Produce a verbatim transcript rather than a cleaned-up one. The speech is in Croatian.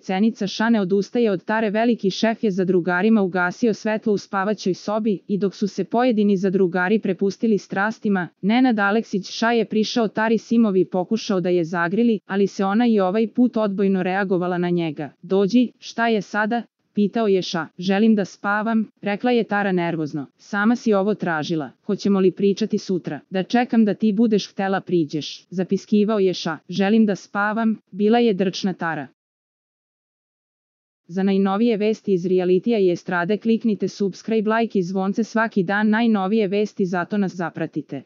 Cenica Ša ne odustaje od Tare. Veliki šef je zadrugarima ugasio svetlo u spavaćoj sobi i dok su se pojedini zadrugari prepustili strastima, Nenad Aleksić Ša je prišao Tari Simovi i pokušao da je zagrili, ali se ona i ovaj put odbojno reagovala na njega. Dođi, šta je sada? Pitao je Ša. Želim da spavam, rekla je Tara nervozno. Sama si ovo tražila. Hoćemo li pričati sutra? Da čekam da ti budeš htela priđeš. Zapiskivao je Ša. Želim da spavam, bila je drčna Tara. Za najnovije vesti iz realitija i estrade kliknite subscribe, like i zvonce svaki dan. Najnovije vesti, zato nas zapratite.